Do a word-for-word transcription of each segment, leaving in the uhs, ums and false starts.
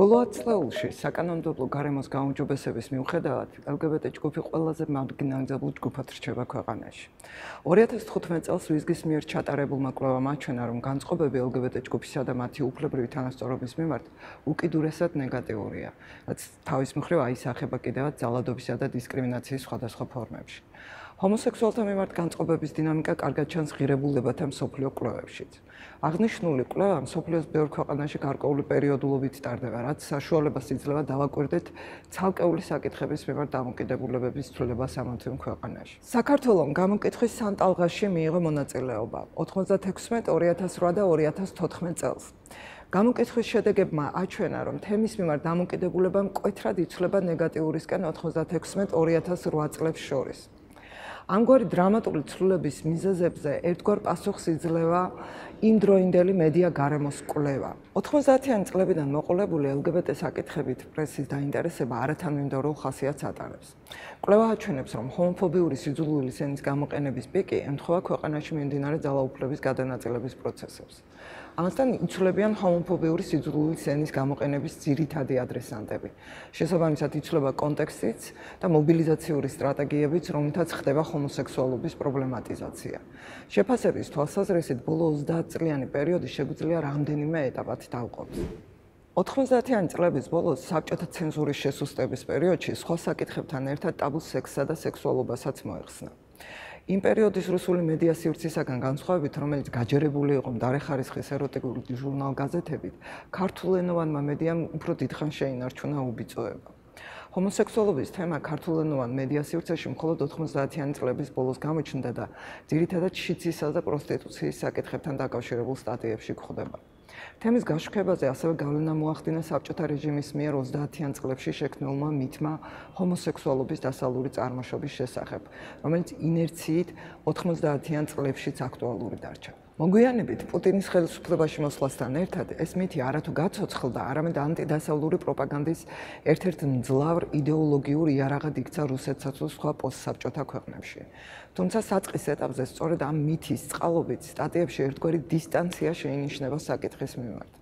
ბოლო ათ წლებში საკანონმდებლო გარემოს გაუმჯობესების მიუხედავად ელგბტ ჯგუფი ყველაზე მარგინალიზებულ ჯგუფად რჩება ქვეყანაში. ორი ათას თხუთმეტ წელს ვიზგის მიერ ჩატარებულმა კვლევამ აჩვენა, რომ განწყობები ელგბტ ჯგუფისა და მათი უფლებრივი თანასწორობის მიმართ უკიდურესად ნეგატიურია, რაც თავის მხრივ აისახება კიდევაც ძალადობისა და დისკრიმინაციის სხვადასხვა ფორმებში. ჰომოსექსუალთა მიმართ განწყობების დინამიკა კარგად ჩანს ღირებულებათა მსოფლიო კვლევებშიც. აღნიშნული კვლევა მსოფლიოს ბევრ ქვეყანაში გარკვეული პერიოდულობით ტარდება, რაც საშუალებას იძლევა დავაკვირდეთ ცალკეული საკითხების მიმართ დამოკიდებულებების ცვლილება სამოცივ ქვეყანაში. საქართველომ გამოკითხვის სამ ტალღაში მიიღო მონაწილეობა ოთხმოცდათექვსმეტ, ორი ათას რვა და ორი ათას თოთხმეტ წელს. გამოკითხვის შედეგებმა აჩვენა, რომ თემის მიმართ დამოკიდებულება მკვეთრად იცვლება ნეგატიურისკენ ოთხმოცდათექვსმეტ, ორი ათას რვა წლებს შორის. ამგვარი დრამატული ცვლილების მიზეზებზე ერთგვარ პასუხს იძლევა იმდროინდელი მედია გარემოს კვლევა. ოთხმოცდაათიანი წლებიდან მოყოლებული ელგბტ საკითხებით პრესის დაინტერესება არათანმიმდევრულ ხასიათს ატარებს. კვლევა აჩვენებს, რომ ჰომოფობიური სიძულვილის ენის გამოყენების პიკი ემთხვევა ქვეყანაში მიმდინარე ძალაუფლების გადანაწილების პროცესებს. ამასთან იცვლებიან ჰომოფობიური სიძულვილის ენის გამოყენების ძირითადი ადრესანტები. შესაბამისად იცვლება კონტექსტიც და მობილიზაციური სტრატეგიებიც, რომლითაც ხდება ჰომოსექსუალობის პრობლემატიზაცია. შეფასების თვალსაზრისით ბოლო ოცდაათწლიანი პერიოდი შეგვიძლია რამდენიმე ეტაპად დავყოფთ. ოთხმოცდაათიანი წლების ბოლოს საბჭოთა ცენზურის შესუსტების პერიოდში სხვა საკითხებთან ერთად ტაბუს სექსსა და სექსუალობასაც მოეხსნა. იმ პერიოდის რუსული მედია სივრცისაგან განსხვავებით, რომელიც გაჯერებული იყო მდარე ხარისხის ეროტიკული ჟურნალ-გაზეთებით, ქართულენოვანმა მედიამ უფრო დიდხანს შეინარჩუნა უბიწოება. ჰომოსექსუალობის თემა ქართულენოვან მედია სივრცეში მხოლოდ ოთხმოცდაათიანი წლების ბოლოს გამოჩნდა და ძირითადად შიცისა და პროსტიტუციის საკითხებთან დაკავშირებულ სტატიებში გვხვდება. თემის გაშუქებაზე ასევე გავლენა მოახდინა საბჭოთა რეჟიმის მიერ ოცდაათიან წლებში შექმნილმა მითმა ჰომოსექსუალობის დასავლური წარმოშობის შესახებ, რომელიც ინერციით ოთხმოცდაათიან წლებშიც აქტუალური დარჩა. მოგვიანებით პუტინის ხელისუფლებაში მოსვლასთან ერთად ეს მითი არათუ გაცოცხლდა, არამედ ანტიდასავლური პროპაგანდის ერთ-ერთ მძლავრ იდეოლოგიურ იარაღად იქცა რუსეთსა თუ სხვა პოსტსაბჭოთა ქვეყნებში. თუმცა საწყის ეტაპზე სწორედ ამ მითის წყალობით სტატიებში ერთგვარი დისტანცია შეინიშნება საკითხის მიმართ.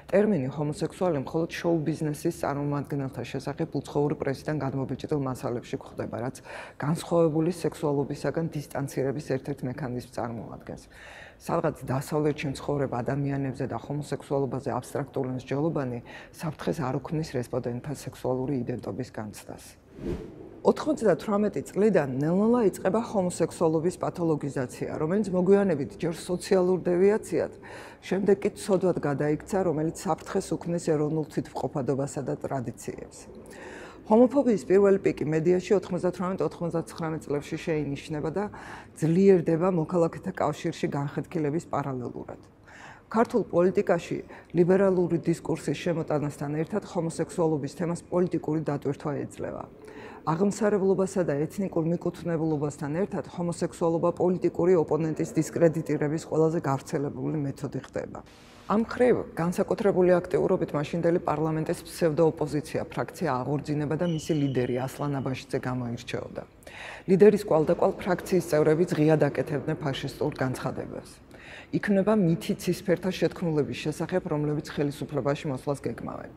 ტერმინი ჰომოსექსუალი მხოლოდ შოუ-ბიზნესის წარმომადგენელთა შესახებ უცხოური პრესიდან გადმობიჭდილ მასალებში გვხვდება, რაც განსხვავებული სექსუალობისაგან დისტანცირების ერთ-ერთ მექანიზმს წარმოადგენს. სადღაც დასავლეთში მცხოვრებ ადამიანებზე და ჰომოსექსუალობაზე აბსტრაქტული მსჯელობანი საფრთხეს არ უქმნის რესპონდენტთა სექსუალური იდენტობის განცდას. ოთხმოცდათვრამეტი წლიდან ნელ-ნელა იწყება ჰომოსექსუალობის პათოლოგიზაცია, რომელიც მოგვიანებით ჯერ სოციალურ დევიაციად, შემდეგ კი ცოდვად გადაიქცა, რომელიც საფრთხეს უქმნის ეროვნულ თვითმყოფადობასა და ტრადიციებს. ჰომოფობიის პირველი პიკი მედიაში ოთხმოცდათვრამეტ ოთხმოცდაცხრამეტ წლებში შეინიშნება და ძლიერდება მოქალაქეთა კავშირში განხეთქილების პარალელურად. ქართულ პოლიტიკაში ლიბერალური დისკურსის შემოტანასთან ერთად ჰომოსექსუალობის თემას პოლიტიკური დატვირთვა ეძლევა. აღმსარებლობასა და ეთნიკურ მიკუთვნებულობასთან ერთად ჰომოსექსუალობა პოლიტიკური ოპონენტის დისკრედიტირების ყველაზე გავრცელებული მეთოდი ხდება. ამ მხრივ განსაკუთრებული აქტიურობით მაშინდელი პარლამენტის ფსევდოოპოზიცია ფრაქცია აღორძინება და მისი ლიდერი ასლან აბაშიძე გამოირჩეოდა. ლიდერის კვალდაკვალ ფრაქციის წევრები ღიად აკეთებდნენ ფაშისტურ განცხადებებს. იქმნება მითი ცისფერთა შეთქმულების შესახებ, რომლებიც ხელისუფლებაში მოსვლას გეგმავენ.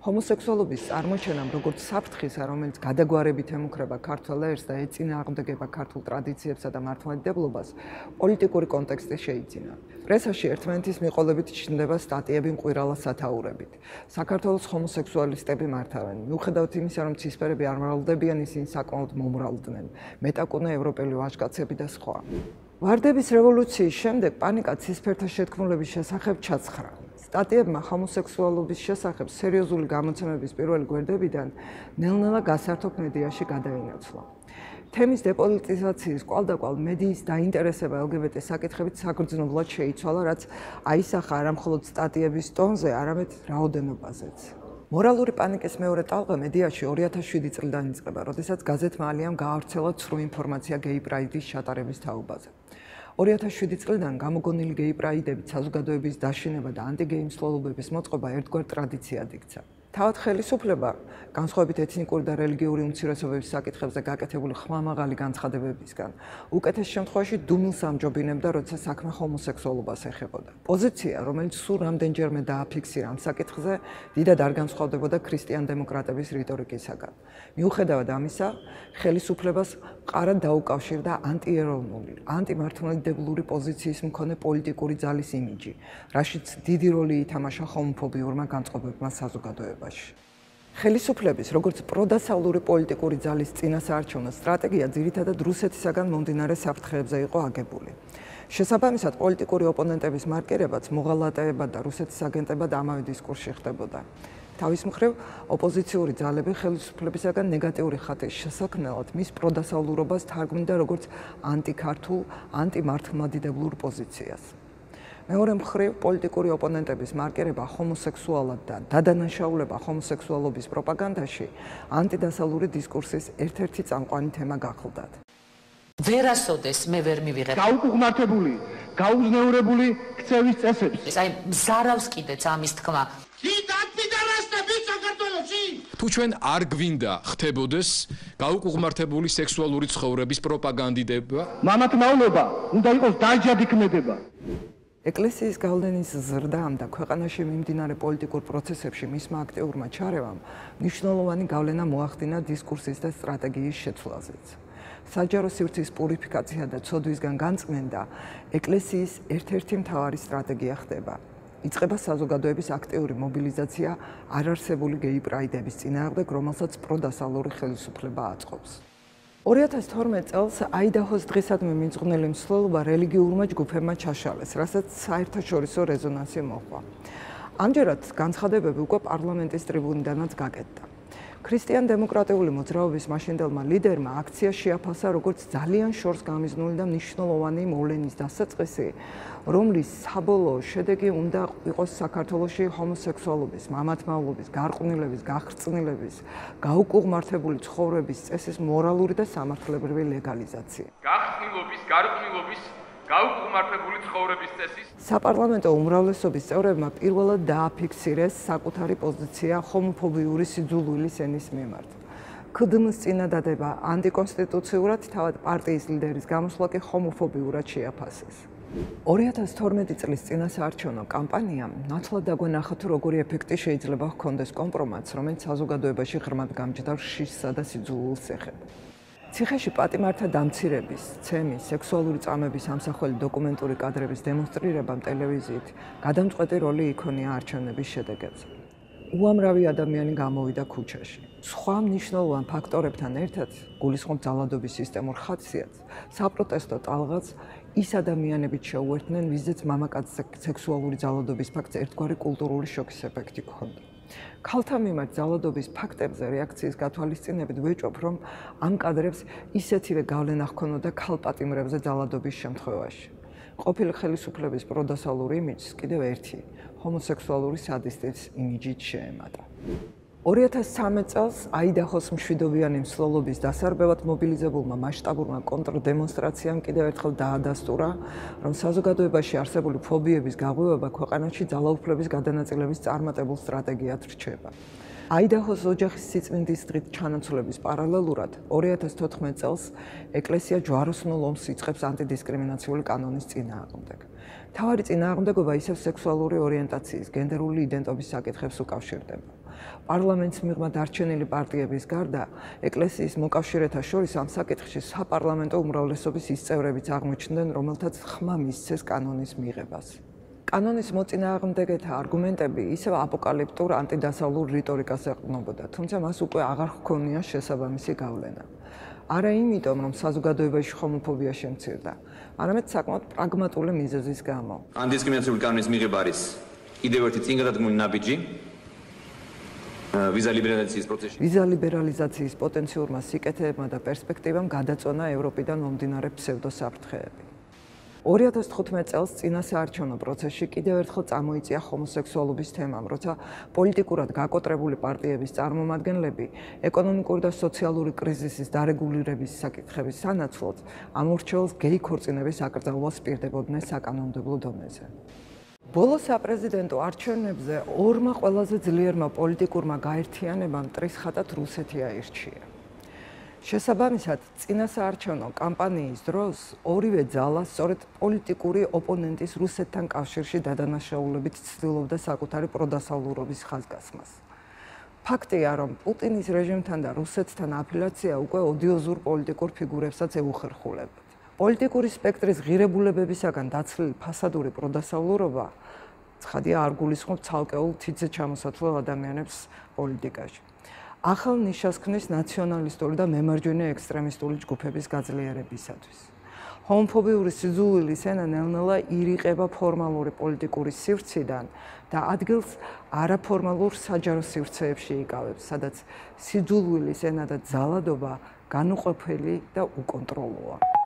ჰომოსექსუალობის წარმოჩენამ, როგორც საფრთხისა, რომელიც გადაგვარებით ემუქრება ქართველ ერს და ეწინააღმდეგება ქართულ ტრადიციებსა და მართლმადიდებლობას, პოლიტიკური კონტექსტი შეიძინა. პრესაში ერთმანეთის მიყოლებით ჩნდება სტატიები მყვირალა სათაურებით. საქართველოს ჰომოსექსუალისტები მართავენ. მიუხედავად იმისა, რომ ცისფერები არ მრავლდებიან, ისინი საკმაოდ მომრავლდნენ. მეტაკუნე ევროპელი ვაჟკაცები და სხვა. ვარდების რევოლუციის შემდეგ პანიკა ცისფერთა შეთქმულების შესახებ ჩაცხრა. სტატიებმა ჰომოსექსუალობის შესახებ სერიოზული გამოცემების პირველი გვერდებიდან ნელ-ნელა გასართობ მედიაში გადაინაცვლა. თემის დეპოლიტიზაციის კვალდაკვალ მედიის დაინტერესება ელგბტ საკითხებით საგრძნობლად შეიცვალა, რაც აისახა არა მხოლოდ სტატიების ტონზე, არამედ რაოდენობაზეც. მორალური პანიკის მეორე ტალღა მედიაში ორი ათას შვიდი წლიდან იწყება, როდესაც გაზეთმა ალიამ გაავრცელა ცრუ ინფორმაცია გეი პრაიდის ჩატარების თაობაზე. ორი ათას შვიდი წლიდან გამოგონილი გეი პრაიდებით საზოგადოების დაშინება და ანტიგეი მსვლელობების მოწყობა ერთგვარ ტრადიციად იქცა. თავად ხელისუფლება განსხვავებით ეთნიკური და რელიგიური უმცირესობების საკითხებზე გაკეთებული ხმამაღალი განცხადებებისგან უკეთეს შემთხვევაში დუმილს ამჯობინებდა, როცა საქმე ჰომოსექსუალობას ეხებოდა. პოზიცია, რომელიც სულ რამდენჯერმე დააფიქსირა ამ საკითხზე, დიდად არ განსხვავდებოდა ქრისტიან-დემოკრატების რიტორიკისაგან. მიუხედავად ამისა, ხელისუფლებას მყარად დაუკავშირდა ანტიეროვნული, ანტიმართლმადიდებლური პოზიციის მქონე პოლიტიკური ძალის იმიჯი, რაშიც დიდი როლი ითამაშა ჰომოფობიურმა განწყობებმა საზოგადოებაში. ხელისუფლების, როგორც პროდასავლური პოლიტიკური ძალის წინასაარჩევნო სტრატეგია ძირითადად რუსეთისაგან მომდინარე საფრთხეებზე იყო აგებული. შესაბამისად, პოლიტიკური ოპონენტების მარკირებაც მოღალატეება და რუსეთის აგენტებად ამავე დისკურსში ხდებოდა. თავის მხრივ, ოპოზიციური ძალები ხელისუფლებისაგან ნეგატიური ხატის შესაქმნელად მის პროდასავლურობას თარგმნიდა როგორც ანტიქართულ, ანტიმართლმადიდებლურ პოზიციას. მეორე მხრივ, პოლიტიკური ოპონენტების მარკირება ჰომოსექსუალად და დადანაშაულება ჰომოსექსუალობის პროპაგანდაში ანტიდასავლური დისკურსის ერთ-ერთი წამყვანი თემა გახლდათ. ვერასოდეს მე ვერ მივიღებ გაუკუღმართებული, გაუზნეურებული ქცევის წესებს. აი მზარავს კიდეც ამის თქმა. თუ ჩვენ არ გვინდა ხდებოდეს გაუკუღმართებული სექსუალური ცხოვრების პროპაგანდიდება, მამათმავლობა უნდა იყოს დაჯადი ქმედება. ეკლესიის გავლენის ზრდამ და ქვეყანაში მიმდინარე პოლიტიკურ პროცესებში მისმა აქტიურმა ჩარევამ მნიშვნელოვანი გავლენა მოახდინა დისკურსის და სტრატეგიის შეცვლაზეც. საჯარო სივრცის პურიფიკაცია და ცოდვისგან განწმენდა ეკლესიის ერთ-ერთი მთავარი სტრატეგია ხდება. იწყება საზოგადოების აქტიური მობილიზაცია არარსებული გეი პრაიდების წინააღმდეგ, რომელსაც პროდასავლური ხელისუფლება აწყობს. ორი ათას თორმეტ წელს აიდაჰოს დღისადმი მიძღვნილი მსვლელობა რელიგიურმა ჯგუფებმა ჩაშალეს, რასაც საერთაშორისო რეზონანსი მოჰყვა. ამჯერად განცხადებები უკვე პარლამენტის ტრიბუნიდანაც გაკეთდა. ქრისტიან-დემოკრატიული მოძრაობის მაშინდელმა ლიდერმა აქცია შეაფასა როგორც ძალიან შორს გამიზნული და მნიშვნელოვანი მოვლენის დასაწყისი, რომლის საბოლოო შედეგი უნდა იყოს საქართველოში ჰომოსექსუალობის, მამათმავლობის, გარყვნილების, გახრწნილების, გაუკუღმართებული ცხოვრების წესის მორალური და სამართლებრივი ლეგალიზაცია. გახრწნილობის, გარყვნილობის, გაუკუღმართებული ცხოვრების წესის საპარლამენტო უმრავლესობის წევრებმა პირველად დააფიქსირეს საკუთარი პოზიცია ჰომოფობიური სიძულვილის ენის მიმართ. ქდმ-ს წინადადება ანტიკონსტიტუციურად, თავად პარტიის ლიდერის გამოსვლა კი ჰომოფობიურად შეაფასეს. ორი ათას თორმეტი წლის წინასაარჩევნო კამპანიამ ნათლად დაგვენახა თუ როგორი ეფექტი შეიძლება ჰქონდეს კომპრომატს, რომელიც საზოგადოებაში ღრმად გამჯდარ შიშსა და სიძულვილს ეხება. ციხეში პატიმართა დამცირების, ცემის, სექსუალური წამების ამსახველი დოკუმენტური კადრების დემონსტრირებამ ტელევიზიით გადამწყვეტი როლი იქონია არჩევნების შედეგებზე. უამრავი ადამიანი გამოვიდა ქუჩაში. სხვა მნიშვნელოვან ფაქტორებთან ერთად, გულისხმობ ძალადობის სისტემურ ხასიათს, საპროტესტო ტალღას ის ადამიანებიც შეუერთდნენ, ვიზეც მამაკაცის სექსუალური ძალადობის ფაქტს ერთგვარი კულტურული შოკის ეფექტი ჰქონდა. ქალთა მიმართ ძალადობის ფაქტებზე რეაქციის გათვალისწინებით ვეჭვობ, რომ ამ კადრებს ისეთივე გავლენა ჰქონოდა ქალპატიმრებზე ძალადობის შემთხვევაში. ყოფილი ხელისუფლების პროდასავლური იმიჯს კიდევ ერთი ჰომოსექსუალური სადისტის იმიჯით შეემატა. ორი ათას ცხრამეტ წელს აიდაჰოს მშვიდობიანი მსვლელობის დასარბევად მობილიზებულმა მასშტაბურმა კონტრდემონსტრაციამ კიდევ ერთხელ დაადასტურა, რომ საზოგადოებაში არსებული ფობიების გაღვივება ქვეყანაში ძალაუფლების გადანაწილების წარმატებულ სტრატეგიად რჩება. აიდაჰოს ოჯახის სიწმინდის დღით ჩანაცვლების პარალელურად ორი ათას თოთხმეტ წელს ეკლესია ჯვაროსნულ ომს იწყებს ანტიდისკრიმინაციული კანონის წინააღმდეგ. მთავარი წინააღმდეგობა ისევ სექსუალური ორიენტაციის, გენდერული იდენტობის საკითხებს უკავშირდება. პარლამენტს მიღმა დარჩენილი პარტიების გარდა, ეკლესიის მოკავშირეთა შორის ამ საკითხში საპარლამენტო უმრავლესობის ის წევრებიც აღმოჩნდნენ, რომელთაც ხმა მისცეს კანონის მიღებას. კანონის მოწინააღმდეგეთა არგუმენტები ისევ აპოკალიფტურ ანტიდასავლურ რიტორიკას ეყრდნობოდა, თუმცა მას უკვე აღარ ჰქონია შესაბამისი გავლენა. არა იმიტომ, რომ საზოგადოებაში ჰომოფობია შემცირდა, არამედ საკმაოდ პრაგმატული მიზეზის გამო. Ანდისკრიმინაციული კანონის მიღება არის კიდევ ერთი წინგადადგმული ნაბიჯი ვიზა ლიბერალიზაციის პროცესში. ვიზა ლიბერალიზაციის პოტენციურმა სიკეთეებმა და პერსპექტივამ გადაწონა ევროპიდან მომდინარე ფსევდოსაფრთხეები. ორი ათას თხუთმეტ წელს წინასაარჩევნო პროცესში კიდევ ერთხელ წამოიწია ჰომოსექსუალობის თემამ, როცა პოლიტიკურად გაკოტრებული პარტიების წარმომადგენლები ეკონომიკური და სოციალური კრიზისის დარეგულირების საკითხების სანაცვლოდ ამ ურჩეულს გეი ქორწინების აკრძალვას პირდებოდნენ საკანონმდებლო დონეზე. ბოლო საპრეზიდენტო არჩევნებზე ორმა ყველაზე ძლიერმა პოლიტიკურმა გაერთიანებამ ტრისხატად რუსეთი აირჩია. შესაბამისად, წინასაარჩევნო კამპანიის დროს ორივე ძალა სწორედ პოლიტიკური ოპონენტის რუსეთთან კავშირში დადანაშაულებით ცდილობდა საკუთარი პროდასავლურობის ხაზგასმას. ფაქტია, რომ პუტინის რეჟიმთან და რუსეთთან აფილაცია უკვე ოდიოზურ პოლიტიკურ ფიგურებსაც ეუხერხულებათ. პოლიტიკური სპექტრის ღირებულებებისაგან დაცლილი ფასადური პროდასავლურობა ცხადია არ გულისხმობს ცალკეულ თითზე ჩამოსათვლელ ადამიანებს პოლიტიკაში. ახალ ნიშას ქმნის ნაციონალისტური და მემარჯვენე ექსტრემისტული ჯგუფების გაძლიერებისათვის. ჰომოფობიური სიძულვილის ენა ნელ-ნელა ირიყება ფორმალური პოლიტიკური სივრციდან და ადგილს არაფორმალურ საჯარო სივრცეებში იკავებს, სადაც სიძულვილის ენა და ძალადობა განუყოფელი და უკონტროლოა.